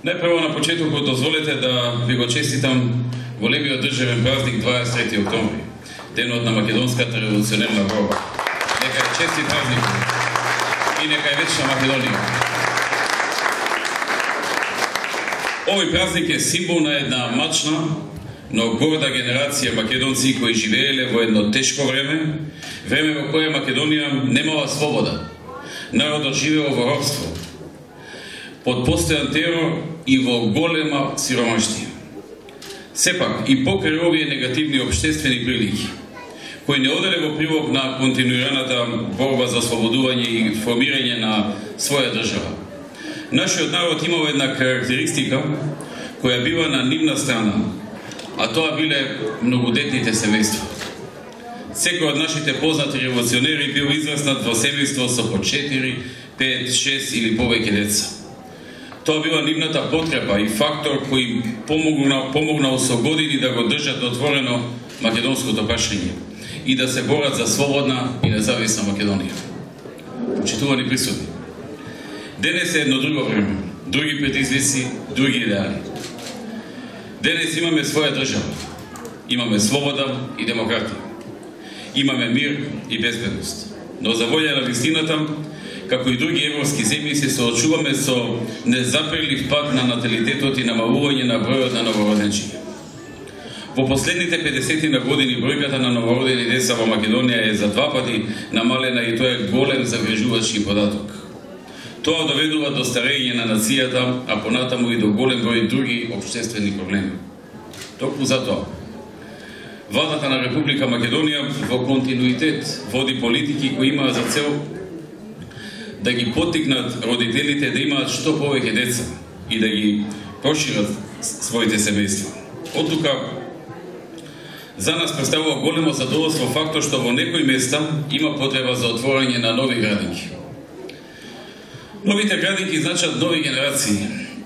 Најпрво на почетокот дозволете да ви го честитам големиот државен празник 23 октомври, денот на македонската револуционерна борба. Нека е честит празник и нека е вечна Македонија. Овој празник е символ на една мачна, но горда генерација македонци кои живееле во едно тешко време, време во кое Македонија немала свобода. Народот живеел во робство, под постојан терор и во голема сиромаштија. Сепак, и покрај овие негативни општествени прилики, кои не оделе во прилог на континуираната борба за ослободување и формирање на своја држава, нашиот народ имал една карактеристика која била на нивна страна, а тоа биле многодетните семејства. Секој од нашите познати револуционери бил израснат во семејство со по 4, 5, 6 или повеќе деца. Тоа била нивната потреба и фактор кој помогнал со години да го држат отворено македонското прашање и да се борат за слободна и независна Македонија. Почитувани присутни, денес е едно друго време, други предизвици, други идеали. Денес имаме своја држава, имаме слобода и демократија, имаме мир и безбедност, но за волја на вистината, како и други европски земји, се соочуваме со незапрелив пат на наталитетот и намалување на бројот на новороденчиња. Во последните 50 на години бројката на новородени деца во Македонија е за 2 пати намалена и тоа е голем загрижувачки податок. Тоа доведува до старење на нацијата, а понатаму и до голем број други општествени проблеми. Токму затоа, Владата на Република Македонија во континуитет води политики кои имаат за цел да ги поттикнат родителите да имаат што повеќе деца и да ги прошират своите семејства. Оттука, за нас представува големо задоволство фактот што во некои места има потреба за отворање на нови градинки. Новите градинки значат нови генерации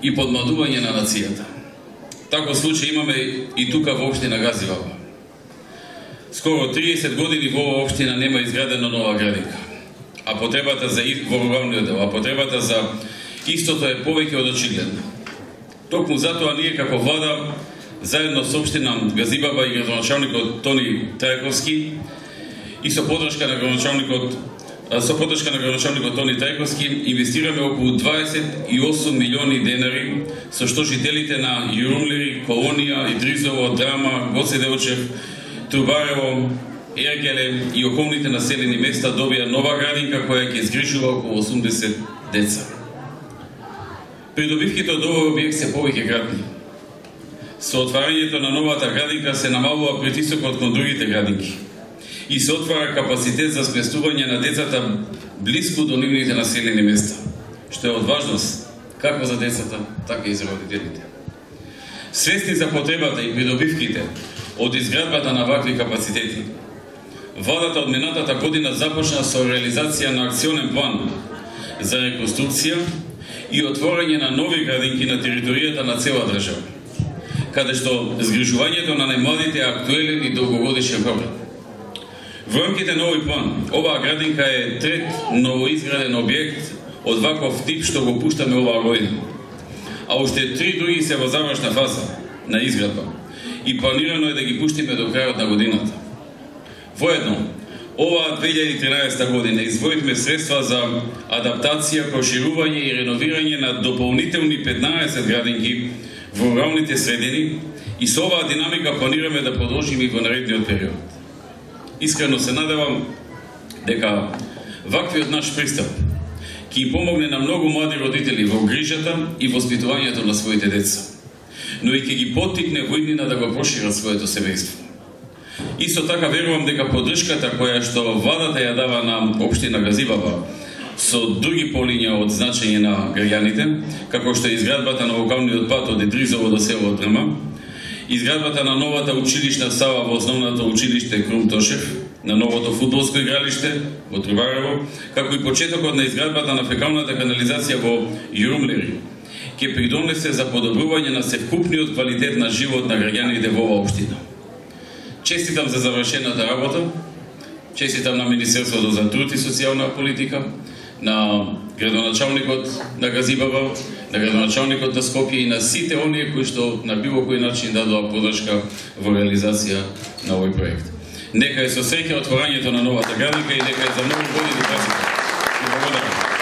и подмладување на нацијата. Таков случај имаме и тука во општина Газиваба. Скоро 30 години во оваа општина нема изградена нова градинка, а потребата за во руралниот дел, а потребата за истото е повеќе од очигледна. Токму затоа ние како влада, заедно со општина Газибаба и градоначалникот Тони Трајковски и со поддршка на градоначалникот Тони Трајковски, инвестираме околу 28 милиони денари, со што жителите на Јурумлери, Колонија, Идризово, Драма, Гоце Делчев, Трубарево, Ергеле и околните населени места добија нова градинка која ќе згрижува околу 80 деца. Придобивките од овој објект се повеќе кратни. Со отварањето на новата градинка се намалува притисокот кон другите градинки и се отвара капацитет за сместување на децата блиску до нивните населени места, што е од важност како за децата, така и за родителите. Свесни за потребата и придобивките од изградбата на вакви капацитети, Владата од минатата година започна со реализација на акционен план за реконструкција и отворање на нови градинки на територијата на цела држава, каде што згрижувањето на најмладите е актуелен и долгогодишен проблем. Во рамките на овој план, оваа градинка е трет новоизграден објект од ваков тип што го пуштаме оваа година, а уште 3 други се во завршна фаза на изградба и планирано е да ги пуштиме до крајот на годината. Воедно, оваа 2013 година издвоивме средства за адаптација, проширување и реновирање на дополнителни 15 градинки во руралните средини и со оваа динамика планираме да продолжиме и во наредниот период. Искрено се надевам дека ваквиот наш пристап ќе им помогне на многу млади родители во грижата и воспитувањето на своите деца, но и ќе ги поттикне во иднина да го прошират своето семејство. Исто така верувам дека поддршката која што владата ја дава на општина Газибаба со други полиња од значење на граѓаните, како што е изградбата на локалниот пат од Идризово до село Драма, изградбата на новата училишна сала во основното училиште Крум Тошев, на новото фудбалско игралиште во Трубарево, како и почетокот на изградбата на фекалната канализација во Јурумлери, ќе придонесе за подобрување на севкупниот квалитет на живот на граѓаните во оваа општина. Честитам за завршената работа, честитам на Министерството за труд и социјална политика, на градоначалникот на Газибабар, на градоначалникот на Скопје и на сите оние кои што на било кој начин дадоа подршка во реализација на овој проект. Нека е со среќа отворањето на новата градинка и нека е за многу години пасите. Благодарам.